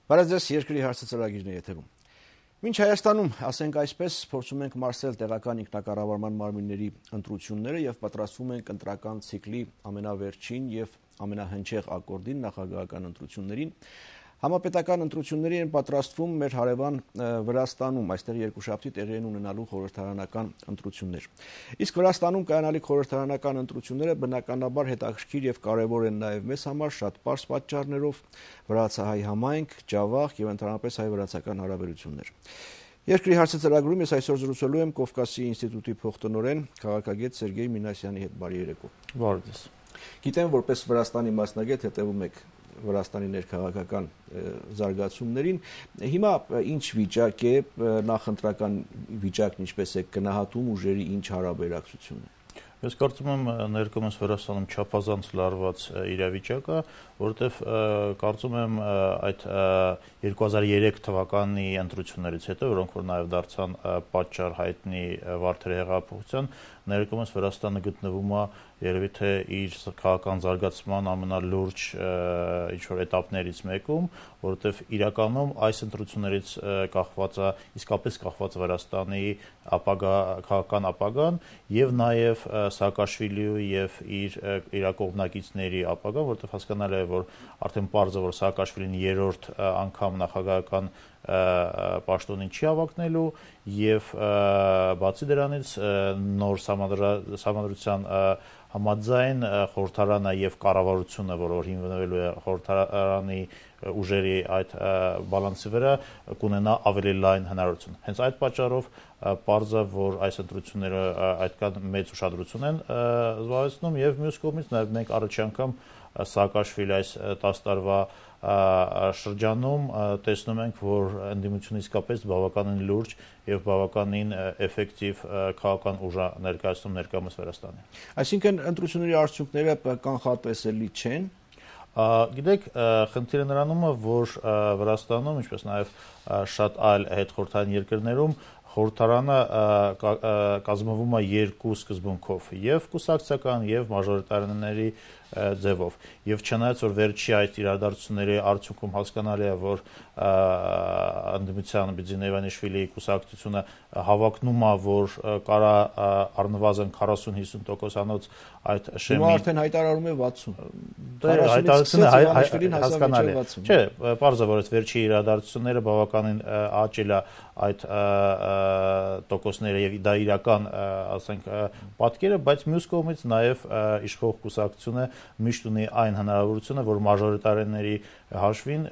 Բարև ձեզ, երկրի հարցը ծրագիրն է եթերում։ Մինչ Հայաստանում, ասենք այսպես, փորձում ենք մարսել տեղական ինքնակառավարման մարմինների ընտրությունները եւ պատրաստվում ենք ընտրական ցիկլի ամենավերջին եւ ամենահնչեղ ակորդին նախագահական ընտրություններին։ Համապետական ընտրությունների են պատրաստվում մեր հարևան Վրաստանում, այստեղ երկուշաբթի տեղի են ունենալու խորհրդարանական ընտրություններ։ Իսկ Վրաստանում կայանալիք խորհրդարանական ընտրությունները բնականաբար հետաքրքիր եւ կարեւոր են նաեւ մեզ համար շատ པարզ պատճառներով՝ վրացահայ համայնք, ջավախ եւ ընդհանրապես հայ-վրացական հարաբերություններ։ Երկրի հարցը ծրագրում ես այսօր զրուցելու եմ Կովկասի ինստիտուտի փոխտնօրեն քաղաքագետ Սերգեյ Մինասյանի հետ։ Բարի երեկո։ Բարև ձեզ։ Գիտեմ, որպես Վրաստանի մասնագետ հետևում եք Վրաստանի ներքաղաքական զարգացումներին։ Հիմա ինչ վիճակ է, նախընտրական վիճակն ինչպես է գնահատում ուժերի ինչ հարաբերակցություն է։ Ես կարծում եմ ներկայումս Վրաստանում չափազանց լարված իրավիճակ է, որովհետև կարծում եմ այդ 2003 թվականի ընտրություններից հետո, որոնք որ նաև դարձան պատճառ հայտնի Վարդերի հեղափոխության, ներկայումս Վրաստանը գտնվում է երևի թե իր քաղաքական զարգացման ամենալուրջ ինչ-որ էտապներից մեկում, որովհետև իրականում այս ընտրություններից կախված է, իսկապես կախված Վրաստանի քաղաքական ապագան եւ նաեւ Սաակաշվիլիի եւ իր կողմնակիցների ապագան, որովհետև հասկանալի է, որ արդեն պարզ է, որ Սաակաշվիլին երրորդ անգամ նախագահական պաշտոնին չի հավակնելու եւ բացի դրանից նոր համադրության համաձայն խորհրդարանը եւ կառավարությունը, որ հիմնվելու է խորհրդարանի ուժերի այդ բալանսի վրա, կունենա ավելի լայն հնարավորություն։ Հենց այդ պատճառով պարզ է, որ այս ընտրությունները այդքան մեծ ուշադրություն են զբաղեցնում եւ մյուս կողմից նաեւ մենք առաջի անգամ Սաակաշվիլի այս 10 տարվա շրջանում տեսնում ենք, որ ընդդիմությունը իսկապես բավականին լուրջ եւ բավականին էֆեկտիվ քաղաքական ուժ ներկայացնում ներկայումս Վրաստանի։ Այսինքն ընտրությունների արդյունքները կանխատեսելի չեն։ Գիտեք, խնդիրը նրանում է, որ Վրաստանում, ինչպես նաեւ շատ այլ հետխորհրդային երկրներում խորհրդարանը կազմվում է երկու սկզբունքով՝ եւ կուսակցական եւ մաժորիտարների ձևով։ Եվ չնայած որ վերջի այդ իրադարձությունների արդյունքում հասկանալի է, որ ընդդիմության Բիձինե Իվանիշվիլիի կուսակցությունը հավակնում է, որ կարա առնվազն 40-50%-անոց այդ շեմի։ Հիմա արդեն հայտարարում է 60։ Հայտարարությունը հասկանալի է։ Չէ, պարզ է, որ այդ վերջի իրադարձությունները բավականին աճել է այդ տոկոսները եւ դա իրական, ասենք, պատկերը, բայց մյուս կողմից նաեւ իշխող կուսակցությունը միշտ ունի այն հնարավորությունը, որ մաժորիտարների հաշվին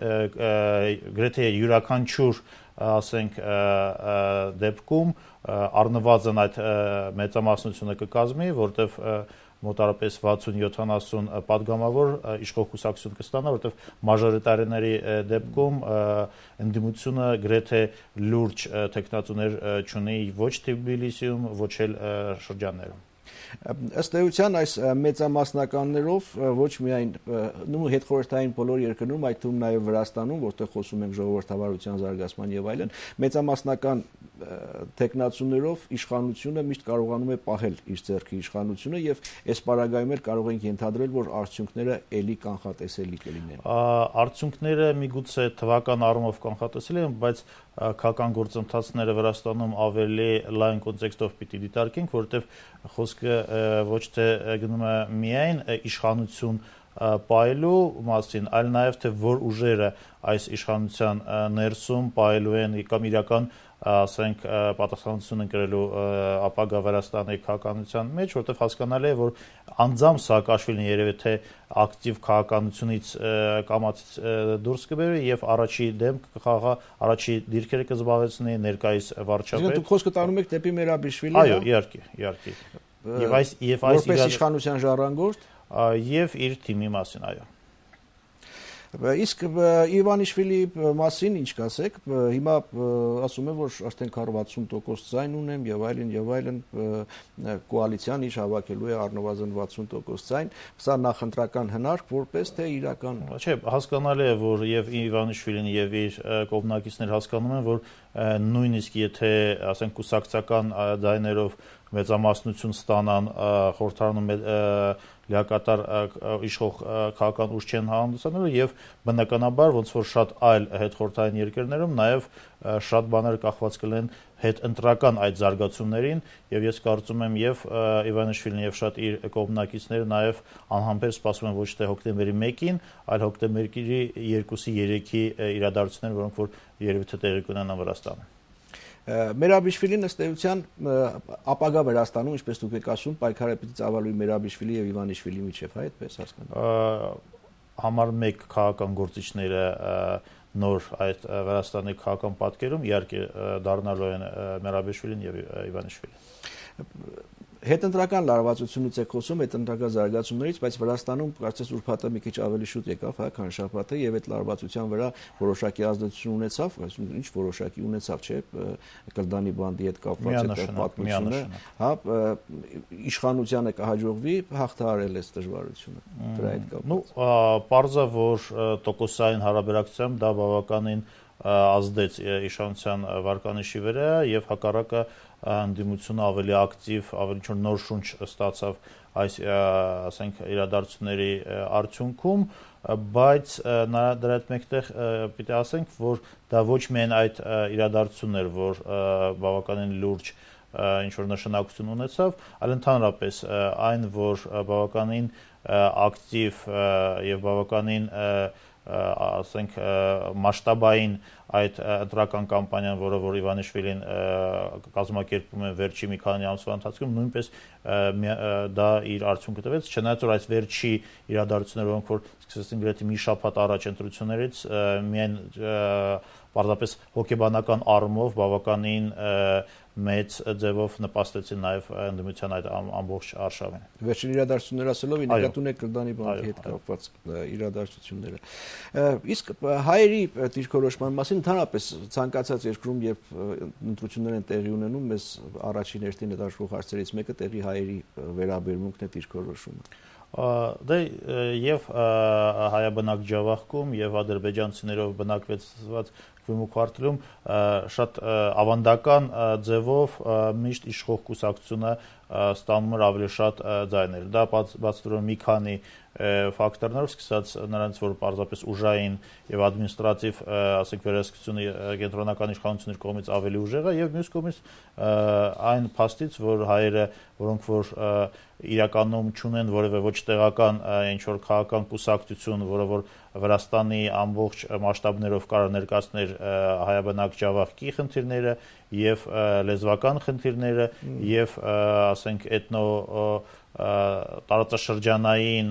գրեթե յուրաքանչյուր, ասենք, դեպքում առնվազն այդ մեծամասնությունը կկազմի, որտեվ մոտարապես 60-70 պատգամավոր իշխող կուսակցություն կստանա, որտեվ մաժորիտարների դեպքում ընդդիմությունը գրեթե լուրջ թեկնածուներ չունի ոչ Թբիլիսիում, ոչ էլ շրջաններում։ Ըստ էության այս մեծամասնականներով ոչ միայն հետխորհրդային բոլոր երկրներում, այդ թվում նաև Վրաստանում, որտեղ խոսում ենք ժողովրդավարության զարգացման եւ այլն, մեծամասնական տեխնացուներով իշխանությունը միշտ կարողանում է պահել իր ձեռքի իշխանությունը եւ այս պարագայում էլ կարող ենք ենթադրել, որ արդյունքները էլի կանխատեսելի կլինեն։ Արդյունքները միգուցե թվական առումով կանխատեսելի են, բայց քաղաքական գործընթացները Վրաստանում ավելի լայն կոնտեքստով պիտի դիտարկենք, որովհետեւ խոսքը ոչ թե գնում է միայն իշխանություն պահելու մասին, այլ նաև թե որ ուժերը այս իշխանության ներսում պահելու են կամ իրական, ասենք, պատասխանատվություն ընկրելու ապագա Վրաստանի քաղաքականության մեջ, որտեղ հասկանալի է, որ անձամբ Սաակաշվիլին երևի թե ակտիվ քաղաքականությունից կամացից դուրս կբերի եւ առաջի դեմ կխաղա, առաջի դիրքերը կզբաղեցնի ներկայիս վարչապետ։ Դուք խոսքը տանում եք դեպի Մերաբիշվիլի։ Այո, իհարկե։ Եվ որպես իշխանության ժառանգորդ եւ իր թիմի մասին, այո։ Իսկ Իվանիշվիլի մասին ինչ կասեք, հիմա ասում են, որ արդեն 60% ձայն ունեմ եւ այլն, կոալիցիան իր հավաքելու է առնվազն 60% ձայն, սա նախընտրական հնարք, որպես թե իրական։ Չէ, հասկանալի է, որ եւ Իվանիշվիլին եւ իր կողմնակիցներ հասկանում են, որ նույնիսկ եթե, ասենք, կուսակցական ձայներով մեծամասնություն ստանան խորհրդարանում լիակատար իշխող քաղաքական ուժ չեն հանդիսանելու եւ բնականաբար ոնց որ շատ այլ հետխորհրդային երկրներում նաեւ շատ բաներ կախված կլինեն հետընտրական այդ զարգացումներին եւ ես կարծում եմ եւ Իվանիշվիլին եւ շատ իր կողմնակիցները նաեւ անհամբեր սպասում են ոչ թե հոկտեմբերի 1-ին, այլ հոկտեմբերի 2-ի 3-ի իրադարձություններ, որոնք որ երևի թե տեղի կունենան Վրաստանում։ Մերաբիշվիլին ըստ էության ապագա Վրաստանում, ինչպես դուք եք ասում, պայքարը պիտի ծավալվի Մերաբիշվիլի եւ Իվանիշվիլի միջեւ, այդպես հասկանում։ Համար 1 քաղաքական գործիչները նոր այդ Վրաստանի քաղաքական պատկերում իհարկե դառնալու են Մերաբիշվիլին եւ Իվանիշվիլին։ Հետընտրական լարվածությունից եք խոսում, հետընտրական զարգացումներից, բայց Վրաստանում կարծես ուրբաթը մի քիչ ավելի շուտ եկավ, քան շաբաթը, եւ այդ լարվածության վրա որոշակի ազդեցություն ունեցավ, ինչ որոշակի ունեցավ, չէ՞, Կլդանի բանդի հետ կապված այդ պատմությունը, հա, իշխանությանը կհաջողվի հաղթահարել այս դժվարությունը դրա հետ կապված։ Ну, պարզա որ տոկոսային հարաբերակցությամբ դա բավականին ազդեց իշխանության վարկանիշի վրա եւ հակառակը հանդիմությունը ավելի ակտիվ, ավելի ինչ-որ նոր շունչ ստացավ այս, ասենք, իրադարձությունների արդյունքում, բայց դրա հետ մեկտեղ պիտի ասենք, որ դա ոչ միայն այդ իրադարձությունն էր, որ բավականին լուրջ ինչ-որ նշանակություն ունեցավ, այլ ընդհանրապես այն, որ բավականին ակտիվ եւ բավականին ասենք մասշտաբային այդ ընտրական կամպանիան, որը որ Իվանիշվիլին կազմակերպում է վերջի մի քանի ամսվա ընթացքում, նույնպես դա իր արդյունքը տվեց, չնայած որ այս վերջի իրադարձությունները, որոնք որ սկսեցին գրեթե մի շաբաթ առաջ ընտրություններից, միայն պարզապես հոգեբանական առումով բավականին մեծ ձևով նպաստեցին նաև ընդդիմության այդ ամբողջ արշավին։ Վերջին իրադարձությունները ասելով նկատուն եք Կլդանի բանկի հետ կապված իրադարձությունները։ Իսկ հայերի դիրքորոշման մասին ընդհանրապես ցանկացած երկրում, երբ ընտրություններ են տեղի ունենում, մեզ առաջին հերթին հետաքրքրող հարցերից մեկը տեղի հայերի վերաբերմունքն է դիրքորոշումը։ Դե եւ հայաբնակ Ջավախքում եւ ադրբեջանցիներով բնակվեցված Քվիմու քվարտալում շատ ավանդական ձևով միշտ իշխող կուսակցությունը ստանում էր ավելի շատ ձայներ։ Դա բացատրում մի քանի ֆակտորներով, սկսած նրանց, որ պարզապես ուժային եւ ադմինիստրատիվ, ասենք, վերահսկությունը կենտրոնական իշխանությունների կողմից ավելի ուժեղ է եւ մյուս կողմից այն փաստից, որ հայերը, որոնք որ իրականում չունեն որևէ ոչ տեղական ինչ որ քաղաքական կուսակցություն, որը որ Վրաստանի ամբողջ մասշտաբներով կարող ներկայացներ հայաբնակ Ջավախքի խնդիրները եւ լեզվական խնդիրները եւ ասենք էթնո տարածաշրջանային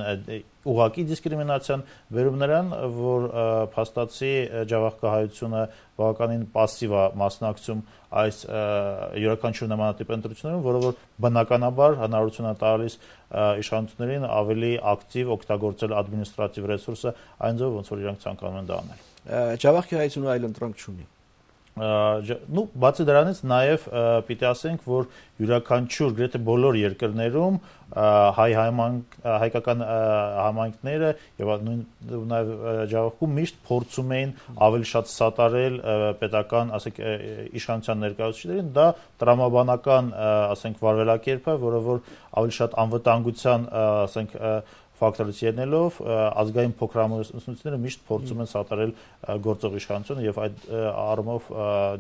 ուղղակի դիսկրիմինացիան վերում նրան, որ փաստացի ջավախքահայությունը բավականին պասիվ է մասնակցում այս յուրաքանչյուր նմանատիպ ընտրություններում, որը որ բնականաբար հնարավորություն է տալիս իշխանություններին ավելի ակտիվ օգտագործել ադմինիստրատիվ ռեսուրսը այն ձևով, ոնց որ իրանք ցանկանում են դա անել։ Ջավախքի հայությունը այլ ընտրանք չունի։ Ну, բացի դրանից նաև պիտի ասենք, որ յուրաքանչյուր գրեթե բոլոր երկրներում հայկական համայնքները եւ նաեւ Ջավախքում միշտ փորձում էին ավելի շատ սատարել պետական, ասենք, իշխանության ներկայացուցիչներին, դա տրամաբանական, ասենք, վարվելակերպ է, որը որ ավելի շատ անվտանգության, ասենք, ֆակտորից ելնելով ազգային փոքրամասնությունները միշտ փորձում են սատարել գործող իշխանությունը եւ այդ առումով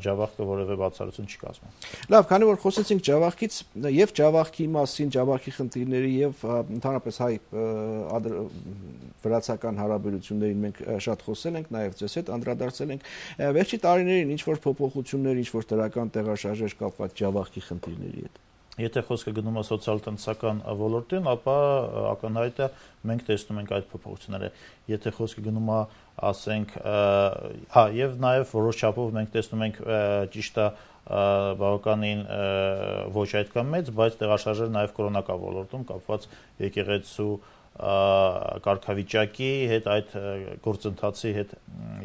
Ջավախքը որևէ բացառություն չի կազմում։ Լավ, քանի որ խոսեցինք Ջավախքից եւ Ջավախքի մասին, Ջավախքի խնդիրների եւ ընդհանրապես հայ վրացական հարաբերություններին մենք շատ խոսել ենք, նաեւ ձեզ հետ անդրադարձել ենք։ Վերջի տարիներին ինչ որ փոփոխություններ, ինչ որ դրական տեղաշարժեր կապված Ջավախքի խնդիրների հետ։ Եթե խոսքը գնում է սոցիալ-տնտեսական ոլորտին, ապա ակնհայտ է մենք տեսնում ենք այդ փոփոխությունները։ Եթե խոսքը գնում է, ասենք, եւ նաեւ որոշ չափով մենք տեսնում ենք ճիշտ է բավականին ոչ այդքան մեծ, բայց տեղաշարժերը նաեւ կրոնական ոլորտում կապված եկեղեցու կարգավիճակի հետ, այդ գործընթացի հետ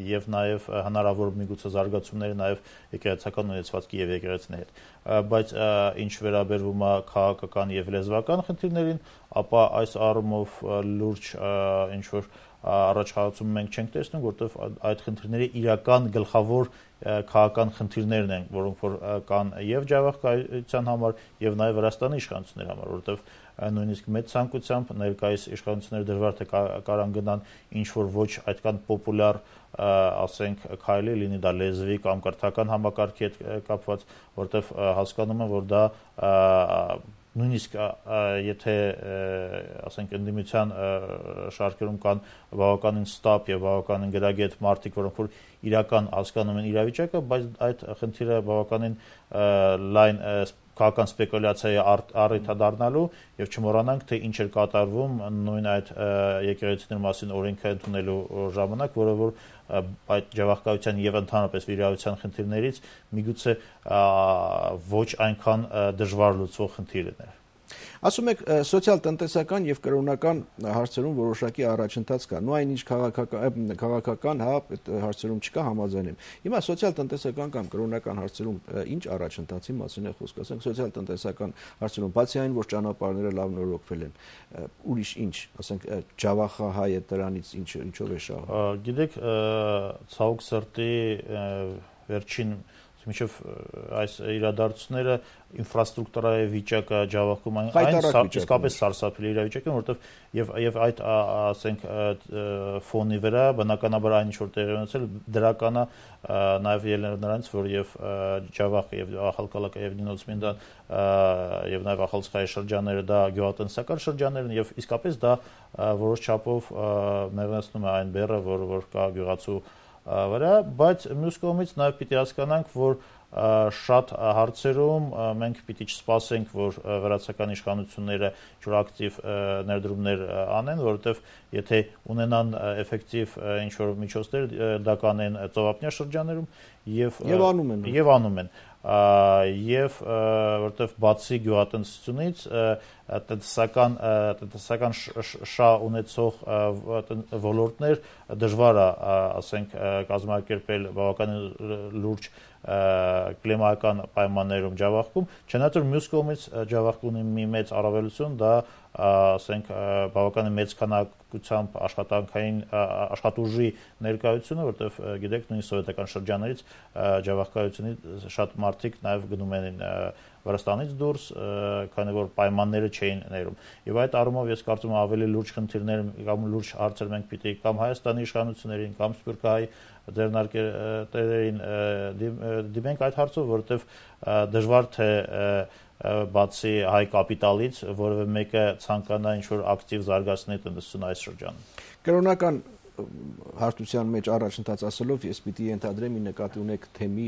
եւ նաեւ հնարավոր միգուցե զարգացումները նաեւ եկեղեցական ունեցվածքի եւ եկեղեցիների հետ, բայց ինչ վերաբերվում է քաղաքական եւ լեզվական խնդիրներին, ապա այս առումով լուրջ ինչ որ առաջխաղացում մենք չենք տեսնում, որտեղ այդ խնդիրների իրական գլխավոր քաղաքական խնդիրներն են, որոնք որ կան եւ Ջավախքայության համար եւ նաեւ Վրաստանի իշխանությունների համար, որտեղ նույնիսկ մեծ ցանկությամբ ներկայիս իշխանությունները դժվար թե կարան գնան ինչ որ ոչ այդքան պոպուլյար ասենք քայլի, լինի դա լեզվի կամ կրթական համակարգի հետ կապված, որտեվ հասկանում եմ, որ դա նույնիսկ եթե ասենք ընդդիմության շարքերում կան բավականին ստապ եւ բավականին գրագետ մարդիկ, որոնք որ իրական հասկանում են իրավիճակը, բայց այդ խնդիրը բավականին լայն քաղաքական սպեկուլյացիայի առիթ է դառնալու եւ չմոռանանք թե ինչ էր կատարվում նույն այդ եկեղեցիների մասին օրենքը ընդունելու ժամանակ, որը որ այդ ջավախկայության եւ ընդհանրապես վիրահատության խնդիրներից միգուցե ոչ այնքան դժվար լուծվող խնդիրներ։ Ասում եք սոցիալ-տնտեսական եւ կրոնական հարցերում որոշակի առաջընթաց կա։ Նույն ինչ քաղաքական հարցերում չկա համաձայնում։ Հիմա սոցիալ-տնտեսական կամ կրոնական հարցերում ինչ առաջընթացի մասին է խոսքը, ասենք սոցիալ-տնտեսական հարցերում, բացի այն, որ ճանապարհները լավ նորոգվել են, ուրիշ ինչ, ասենք Ջավախահայը դրանից ինչով է շահում։ Գիտեք, ցավոք սրտի վերջին մինչև այս իրադարձությունները ինֆրաստրուկտուրայի վիճակը Ջավախքում այն իսկապես սարսափելի իրավիճակ է, որովհետև եւ այդ ասենք ֆոնի վրա բնականաբար այն ինչ որ տեղի ունեցել դրական է նաեւ ելնելով նրանից, որ եւ Ջավախը եւ Ախալկալակը եւ Նինոցմինդան եւ նաեւ Ախալցխայի շրջանները դա գյուղատնտեսական շրջաններ են եւ իսկապես դա որոշ չափով մեղմեցնում է այն բեռը, որ կա գյուղացու վրա, բայց մյուս կողմից նաև պիտի հասկանանք, որ շատ հարցերում մենք պիտի չսպասենք, որ վրացական իշխանությունները ինչ-որ ակտիվ ներդրումներ անեն, որովհետև եթե ունենան էֆեկտիվ ինչ-որ միջոցներ, դա կանեն ծովափնյա շրջաներում եւ անում են։ Եվ որտեվ բացի գյուղատնտեսությունից տնտեսական շահ ունեցող ոլորտներ դժվար է ասենք կազմակերպել բավականին լուրջ կլիմայական պայմաններում Ջավախքում, չնայած որ մյուս կողմից Ջավախքում ունի մի մեծ առավելություն, դա ասենք բավականին մեծ քանակությամբ աշխատանքային աշխատուժի ներկայությունը, որտեղ գիտեք նույն սովետական շրջաններից Ջավախկայությունից շատ մարդիկ նաև գնում են Վրաստանից դուրս, քանի որ պայմանները չէին ներում։ Եվ այդ առումով ես կարծում եմ ավելի լուրջ խնդիրներ կամ լուրջ հարցեր մենք պիտի կամ Հայաստանի իշխանություններին կամ Սփյուռքահայ ձեռնարկերներին դիմենք այդ հարցով, որովհետև դժվար թե բացի հայ կապիտալից որևէ մեկը ցանկանա ինչ-որ ակտիվ զարգացնել տնտեսությունը այս շրջանում։ Կրոնական հարթության մեջ առաջընթաց ասելով ես պիտի ենթադրեմ նկատի ունեք թեմի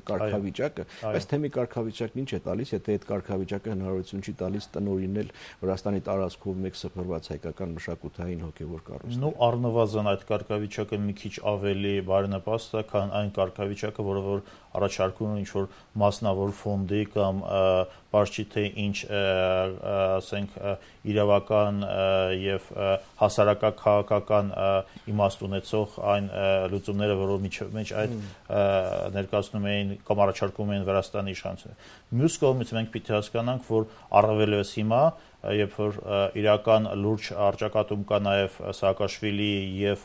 կարգավիճակը, բայց թեմի կարգավիճակն ինչ է տալիս, եթե այդ կարգավիճակը հնարավորություն չի տալիս տնօրինել Վրաստանի տարածքով մեկ սփռված հայկական մշակութային հոգևոր կառույցներ։ Նու առնվազն այդ կարգավիճակը մի քիչ ավելի բարենպաստ է, քան այն կարգավիճակը, որը որ առաջարկում ինչ որ մասնավոր ֆոնդի կամ բարձի թե ինչ ասենք իրավական եւ հասարակական իմաստ ունեցող այն լուծումները, որով մեջ այդ ներկայացնում էին կամ առաջարկում էին Վրաստանի իշխանությունները։ Մյուս կողմից մենք պիտի հասկանանք, որ առավելևս հիմա երբ որ իրական լուրջ առճակատում կա նաև Սաակաշվիլի եւ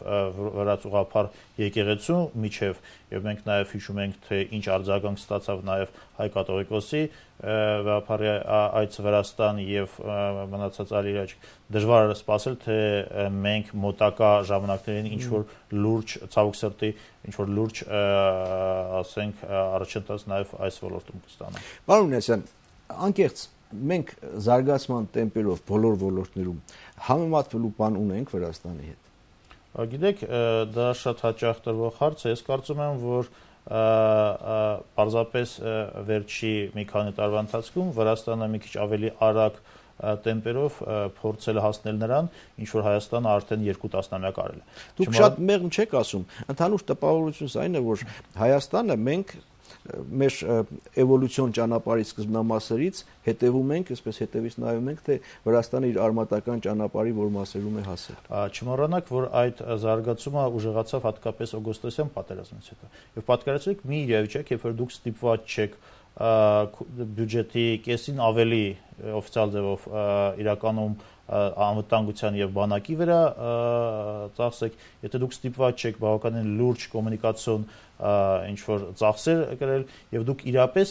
վրացուղափար եկեղեցու միջև եւ մենք նաև հիշում ենք թե ինչ արձագանք ստացավ նաև հայ կաթողիկոսի վաղապարի այց Վրաստան եւ մնացած այլ իրաճ դժվար է սպասել թե մենք մոտակա ժամանակներին ինչ որ լուրջ ցավոք սրտի ինչ որ լուրջ ասենք առաջընթաց նաև այս ոլորտում կստանանք։ Պարոն Մինասյան, անկեղծ մենք զարգացման տեմպերով բոլոր ոլորտներում համեմատվելու բան ունենք Վրաստանի հետ։ Գիտեք, դա շատ հաճախ տրվող հարց է, ես կարծում եմ, որ պարզապես վերջի մի քանի տարվա ընթացքում Վրաստանը մի քիչ ավելի արագ տեմպերով փորձել հասնել նրան, ինչ որ Հայաստանը արդեն 2 տասնամյակ արել է։ Դուք շատ մեղմ չեք ասում, ընդհանուր տպավորությունս այն է, որ Հայաստանը մենք մեր էվոլյուցիոն ճանապարհի սկզբնամասերից հետևում ենք, այսպես հետևից նայում ենք, թե Վրաստանը իր արմատական ճանապարհի որ մասերում է հասել։ Չմոռանաք, որ այդ զարգացումը ուժեղացավ հատկապես օգոստոսյան պատերազմից հետո։ Եվ պատկերացրեք մի իրավիճակ, երբ որ դուք ստիպված չեք բյուջետի կեսին ավելի օֆիցիալ ձևով իրականում անվտանգության եւ բանակի վրա ծախսեք, եթե դուք ստիպված չեք բավականին լուրջ կոմունիկացիոն ինչ որ ծախսեր կրել եւ դուք իրապես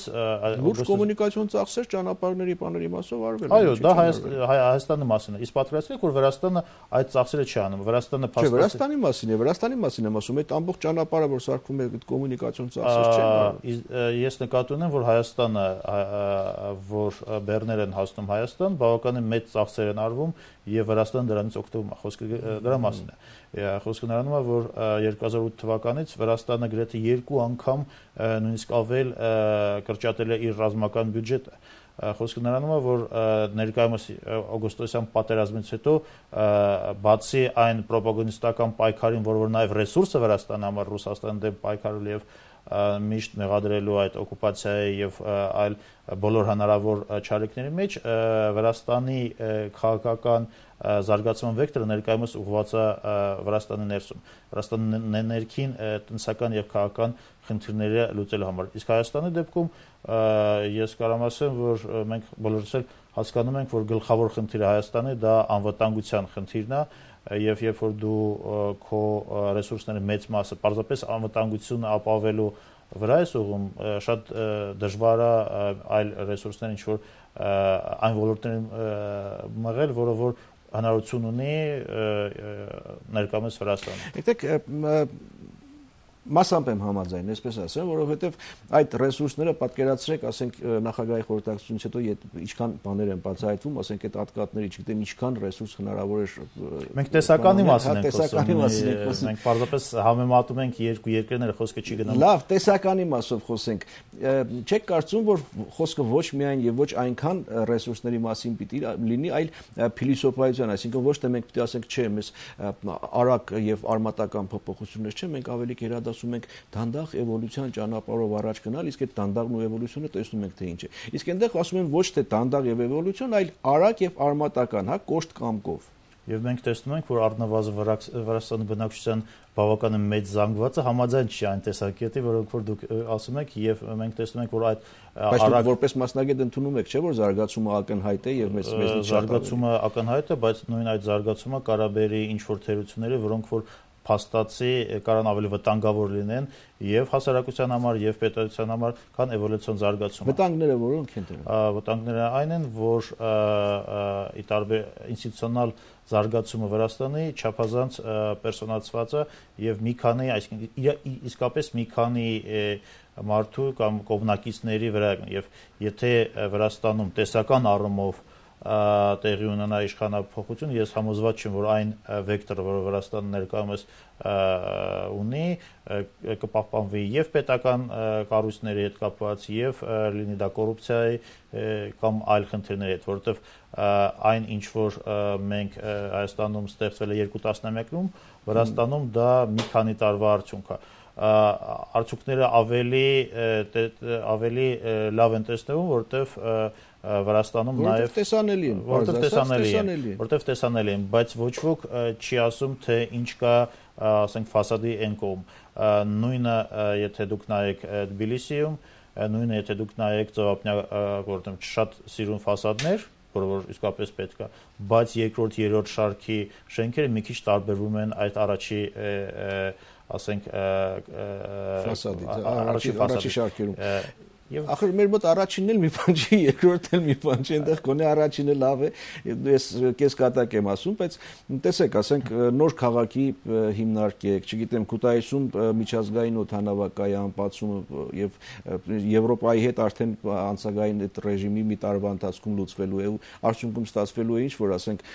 լուրջ կոմունիկացիոն ծախսեր ճանապարհների բաների մասով արվել։ Այո, դա Հայաստանի մասին է։ Իսկ պատկերացրեք, որ Վրաստանը այդ ծախսերը չի անում։ Վրաստանը Չէ, Վրաստանի մասին եմ ասում, այդ ամբողջ ճանապարհը, որ սարքում է, այդ կոմունիկացիոն ծախսեր չեն։ Ես նկատի ունեմ, որ Հայաստանը, որ բեռներ են հասնում Հայաստան, բավականին մեծ ծախսեր են արվում եւ Վրաստանը դրանից օգտվում է։ Խոսքը դրա մասին է։ Խոսքը նրանում է, որ 2008 թվականից Վրաստանը գրեթե 2 անգամ նույնիսկ ավել կրճատել է իր ռազմական բյուջետը։ Խոսքը նրանում է, որ ներկայումս օգոստոսյան պատերազմից հետո բացի այն պրոպագանդիստական պայքարին, որ նաև ռեսուրսը Վրաստանի համար Ռուսաստանի դեմ պայքարել եւ միշտ մեղադրելու այդ օկուպացիայի եւ այլ բոլոր հնարավոր չարիքների մեջ Վրաստանի քաղաքական զարգացման վեկտորը ներկայումս ուղղված է Վրաստանի ներսում։ Վրաստանի ներքին տնտեսական եւ քաղաքական խնդիրները լուծելու համար։ Իսկ Հայաստանի դեպքում ես կարող եմ ասեմ, որ մենք բոլորս էլ հասկանում ենք, որ գլխավոր խնդիրը Հայաստանի դա անվտանգության խնդիրն է եւ երբ որ դու քո ռեսուրսների մեծ մասը պարզապես անվտանգությունը ապահովելու վրա ես ուղղում, շատ դժվար է այլ ռեսուրսներ ինչ որ այն ոլորտներին մղել, որը որ հնարավորություն ունի ներկայումս Վրաստանը։ Գիտեք, մասամբ եմ համաձայն, այսպես ասեմ, որովհետև այդ ռեսուրսները պատկերացրեք, ասենք նախագահի խորհրդակցությունից հետո ինչքան բաներ են բացահայտվում, ասենք այդ ատկատների, չգիտեմ, ինչքան ռեսուրս հնարավոր է։ Մենք տեսականի մասին ենք խոսում։ Մենք պարզապես համեմատում ենք երկու երկրները, խոսքը չի գնում։ Լավ, տեսականի մասով խոսենք։ Չեք կարծում, որ խոսքը ոչ միայն եւ ոչ այնքան ռեսուրսների մասին պիտի լինի, այլ փիլիսոփայության, այսինքն ոչ թե մենք պիտի ասենք, չէ, մեզ արագ եւ արմատական փոփոխություններ չէ, մենք ավելի կերադասում ենք դանդաղ էվոլյուցիան ճանապարհով առաջ գնալ, իսկ այդ դանդաղն ու էվոլյուցիոնը տեսնում ենք թե ինչ է։ Իսկ այնտեղ ասում են ոչ թե դանդաղ եւ էվոլյուցիոն, այլ արագ եւ արմատական, հա, կոշտ կամ կով։ Եվ մենք տեսնում ենք, որ առնվազն Վրաստանի բնակչության բավականին մեծ զանգվածը համաձայն չի այն տեսակետի, որոնք որ դուք ասում եք, եւ մենք տեսնում ենք, որ այդ արագ որպես մասնագետ ընդունում եք, չէ՞ որ զարգացումը ակնհայտ է եւ մեզ զարգացումը ակնհայտ է, բայց նույն այդ զարգացումը կարաբերի ինչ որ թերությունները, որոնք որ փաստացի կարան ավելի վտանգավոր լինեն եւ հասարակության համար եւ պետության համար, քան էվոլյուցիոն զարգացումը։ Վտանգները որոնք են դրանք։ Վտանգները այն են, որ ի տարբեր ինստիտուցիոնալ զարգացումը Վրաստանի չափազանց պերսոնալացված է եւ մի քանի, այսինքն իսկապես մի քանի մարդու կամ կողմնակիցների վրա եւ եթե Վրաստանում տեսական առումով տեղի ունենա իշխանափոխություն, ես համոզված չեմ, որ այն վեկտորը, որը Վրաստանը ներկայումս ունի, կպահպանվի եւ պետական կառույցների հետ կապված եւ լինի դա կոռուպցիայի կամ այլ խնդիրների հետ, որովհետեւ այն ինչ որ մենք Հայաստանում ստեղծվել է 2 տասնամյակում, Վրաստանում դա մի քանի տարվա արդյունք է։ Արդյունքները ավելի լավ են տեսնվում, որովհետեւ Վրաստանում նաև տեսանելի են, որտեղ տեսանելի են, բայց ոչ ոք չի ասում, թե ինչ կա, ասենք, ֆասադի այն կողմ։ Նույնը, եթե դուք նայեք Թբիլիսիում, նույնը, եթե դուք նայեք Ծովափնյա գործում շատ սիրուն ֆասադներ, որը որ իսկապես պետք է, բայց երկրորդ, երրորդ շարքի շենքերը մի քիչ տարբերվում են այդ առաջի, ասենք, առաջի շարքերում։ Ախր մեր մոտ առաջինն էլ մի բան չի, երկրորդն էլ մի բան չի, այնտեղ գոնե առաջինը լավ է, ես կես կատակ եմ ասում, բայց տեսեք, ասենք նոր քաղաքի հիմնարկեք, չգիտեմ, Քութայիսում միջազգային օդանավակայան բացումը եւ Եվրոպայի հետ արդեն անցագային այդ ռեժիմի մի տարվա ընթացքում լուծվելու է ու արդյունքում ստացվելու է ինչ որ ասենք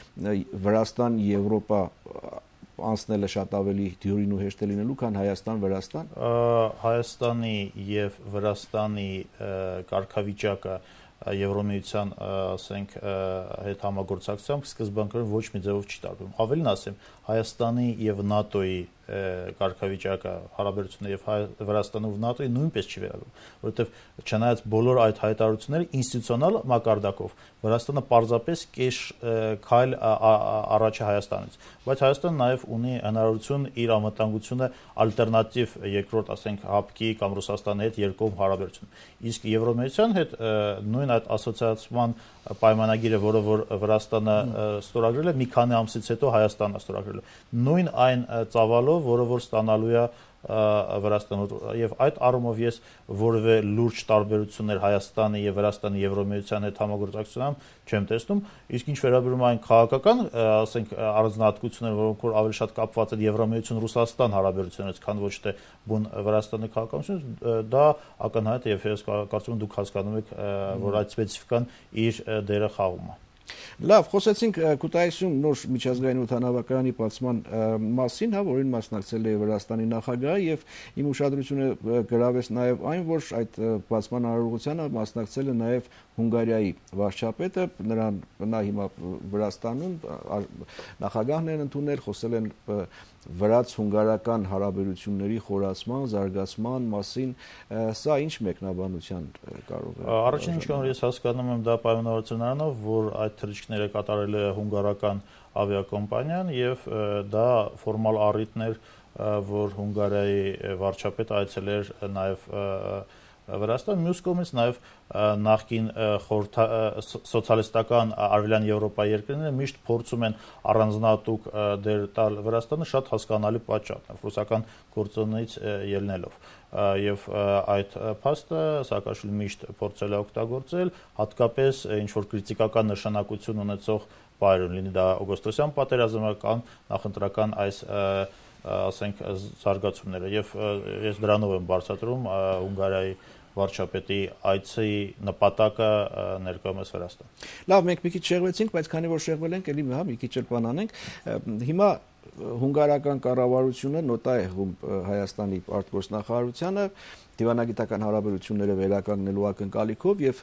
Վրաստան, Եվրոպա անցնելը շատ ավելի դյուրին ու հեշտ է լինելու, քան Հայաստան-Վրաստան։ Հայաստանի եւ Վրաստանի կարգավիճակը Եվրոմիության, ասենք, հետ համագործակցությամբ սկզբնական ոչ մի ձևով չի տարբերվում։ Ավելին ասեմ, Հայաստանի եւ ՆԱՏՕ-ի կարգավիճակը հարաբերությունները եւ Վրաստանի ու ՆԱՏՕ-ի նույնպես չի վերաբերվում, որովհետեւ չնայած բոլոր այդ հայտարարությունները ինստիտուցիոնալ մակարդակով Վրաստանը պարզապես կես քայլ առաջ է Հայաստանից, բայց Հայաստանը նաեւ ունի հնարավորություն իր անվտանգությունը ալտերնատիվ երկրորդ, ասենք, ՀԱՊԿ-ի կամ Ռուսաստանի հետ երկկողմ հարաբերություն։ Իսկ Եվրոմիության հետ նույն այդ ասոցիացիան պայմանագիրը, որը որ Վրաստանը ստորագրել է, մի քանի ամսից հետո Հայաստանն է ստորագրել։ Նույն այն ծավալով, որը որ ստանալու է Վրաստանը եւ այդ առումով ես որևէ լուրջ տարբերություններ Հայաստանի եւ Վրաստանի Եվրոմիության հետ համագործակցությամբ չեմ տեսնում, իսկ ինչ վերաբերում այն քաղաքական, ասենք առանձնահատկությունները, որոնք որ ավելի շատ կապված են Եվրոմիություն-Ռուսաստան հարաբերություններից, քան ոչ թե բուն Վրաստանի քաղաքականությունից, դա ակնհայտ է եւ ես կարծում եմ դուք հասկանում եք, որ այդ սպეციფიკան իր դերը խաղում է։ Լավ, խոսեցինք կուտայիսում նոր միջազգային օդանավակայանի բացման մասին, որին մասնակցել է Վրաստանի նախագահը եւ իմ ուշադրությունը գրավեց նաեւ այն, որ այդ բացման արարողությանը մասնակցել է նաեւ Հունգարիայի վարչապետը, նա հիմա Վրաստանում նախագահն են ընդունել, խոսել են վրաց-հունգարական հարաբերությունների խորացման, զարգացման մասին, սա ինչ մեկնաբանության կարող է։ Առաջին ինչ որ ես հասկանում եմ դա պայմանավորվածություն նրանով, որ այդ թռիչքները կատարել է հունգարական ավիակոմպանիան եւ դա ֆորմալ առիթն էր, որ Հունգարիայի վարչապետը այցելեր նաեւ Վրաստան, մյուս կողմից նաև նախկին սոցիալիստական արևելյան Եվրոպայի երկրները միշտ փորձում են առանձնահատուկ դեր տալ Վրաստանը շատ հասկանալի պատճառով, ռուսական գործոնից ելնելով։ Եվ այդ փաստը Սաակաշվիլին միշտ փորձել է օգտագործել, հատկապես ինչ որ քրիտիկական նշանակություն ունեցող բայրում, լինի դա օգոստոսյան պատերազմը կամ նախընտրական այս ասենք զարգացումները եւ ես դրանով եմ բարձրացնում Հունգարիայի վարչապետի այցի նպատակը ներկայումս Վրաստան։ Լավ, մենք մի քիչ շեղվեցինք, բայց քանի որ շեղվել ենք, ելի մի քիչ էլ բան անենք։ Հիմա հունգարական կառավարությունը նոտա է Հայաստանի արտգործնախարարությանը դիվանագիտական հարաբերությունները վերականգնելու ակնկալիքով եւ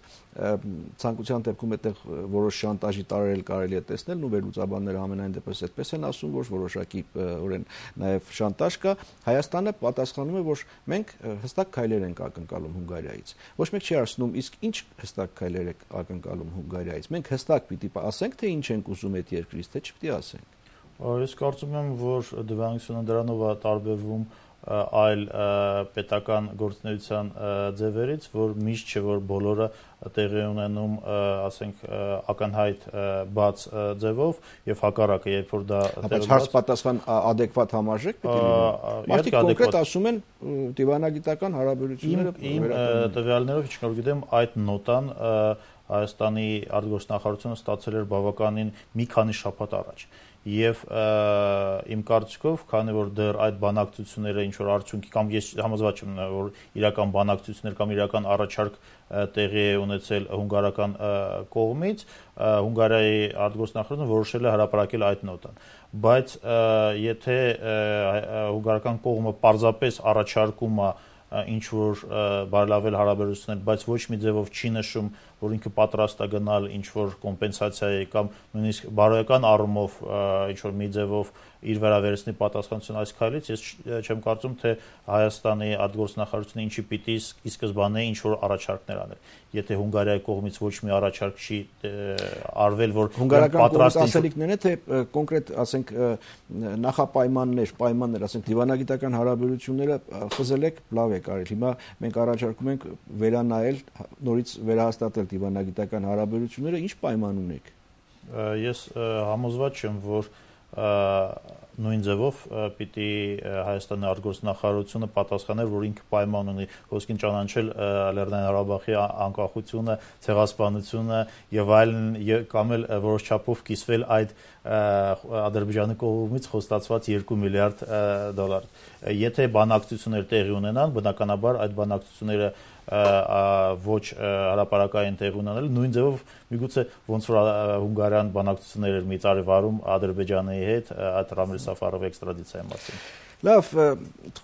ցանկության դեպքում այդտեղ որոշ շանտաժի տարրեր կարելի է տեսնել, ու վերլուծաբանները ամենայն դեպս այդպես են ասում, որ որոշակի օրեն նաեւ շանտաժ կա։ Հայաստանը պատասխանում է, որ մենք հստակ քայլեր ենք ակնկալում Հունգարիայից։ Ոչ մեկ չի ասում, իսկ ինչ հստակ քայլեր եք ակնկալում Հունգարիայից։ Մենք հստակ պիտի ասենք, թե ինչ ենք ուզում այդ երկրից, թե չպիտի ասենք։ Ես կարծում եմ, որ դիվանագիտությունը դրանով է տարբերվում այլ պետական գործունեության ձևերից, որ միշտ չէ որ բոլորը տեղի ունենում, ասենք, ակնհայտ բաց ձևով եւ հակառակը, երբ որ դա բայց հարց պատասխան adekvat համարժեք պետք է լինի։ Մարդիկ կոնկրետ ասում են դիվանագիտական հարաբերությունները իմ տվյալներով, ինչ որ գիտեմ, այդ նոտան Հայաստանի արտգործնախարարությունը ստացել էր բավականին մի քանի շաբաթ առաջ։ Եվ իմ կարծիքով, քանի որ դեռ այդ բանակցությունները ինչ որ արդյունքի կամ ես համոզված եմ, որ իրական բանակցություններ կամ իրական առաջարկ տեղի է ունեցել հունգարական կողմից, Հունգարիայի արտգործնախարարությունը որոշել է հրապարակել այդ նոտան։ Բայց եթե հունգարական կողմը պարզապես առաջարկում է ինչ որ բարելավել հարաբերություններ, բայց ոչ մի ձևով չի նշում, որ ինքը պատրաստ է գնալ ինչ որ կոմպենսացիայի կամ նույնիսկ բարոյական առումով ինչ որ մի ձևով իր վերաբերեցնի պատասխանատվություն այս քայլից, ես չեմ կարծում, թե Հայաստանի արտգործնախարարությունը ինչի պիտի ի սկզբանե ինչ որ առաջարկներ անել։ Եթե Հունգարիայի կողմից ոչ մի առաջարկ չի արվել, որ պատրաստ ասելիքներն է, թե կոնկրետ, ասենք, պայմաններ, ասենք, դիվանագիտական հարաբերությունները խզել եք, լավ եք արել։ Հիմա մենք առաջարկում ենք վերանայել, նորից վերահաստատել դիվանագիտական հարաբերությունները, ինչ պայման ունեք։ Ես համոզված չեմ, որ նույն ձևով պիտի Հայաստանի արտգործնախարարությունը պատասխաներ, որ ինքը պայման ունի ոսկին ճանաչել Լեռնային Ղարաբաղի անկախությունը, ցեղասպանությունը եւ այլն, կամ էլ որոշ չափով կիսվել այդ Ադրբեջանի կողմից խոստացված 2 միլիարդ դոլար։ Եթե բանակցություններ տեղի ունենան, բնականաբար այդ բանակցությունները ոչ հրապարակային տեղ ունենալ, նույն ձևով միգուցե ոնց որ Հունգարիան բանակցություններ էր մի տարի վարում Ադրբեջանի հետ այդ Ռամիլ Սաֆարովի էքստրադիցիայի մասին։ Լավ,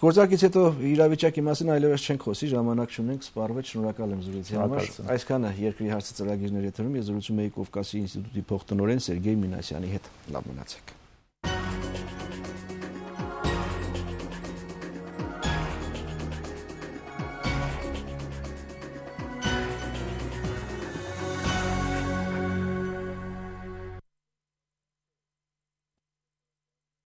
գործակից հետո իրավիճակի մասին այլևս չենք խոսի, ժամանակ չունենք, սպառվեց, շնորհակալ եմ զրույցի համար։ Այսքանը երկրի հարցը ծրագիրների եթերում ես զրուցում էի Կովկասի ինստիտուտի փոխտնօրեն Սերգեյ Մինասյանի հետ։ Լավ մնացեք։